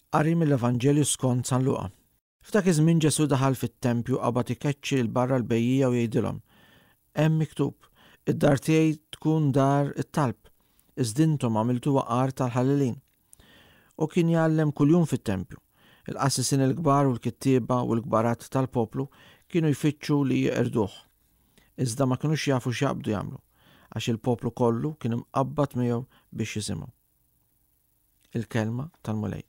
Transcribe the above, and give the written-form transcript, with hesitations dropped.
Qari mill-Evanġelju skont San Luqa. F'dak iż-żmien Ġesù daħal fit-tempju qabad ikeċċi 'l barra l-bejjiegħa u jgħidilhom, Hemm miktub, 'Id-dar tiegħi tkun dar it-talb, iżda intom għamiltuha għar tal-ħallelin. U kien jgħallem kuljum fit-tempju. Il-qassisin il-kbar u l-kittieba u l-kbarat tal-poplu kienu jfittxu li jeqirduh. Iżda ma kinux jafu x'jaqbdu jagħmlu, għax il-poplu kollu kien imqabbad miegħu biex jisimgħu. Il-Kelma tal-Mulej.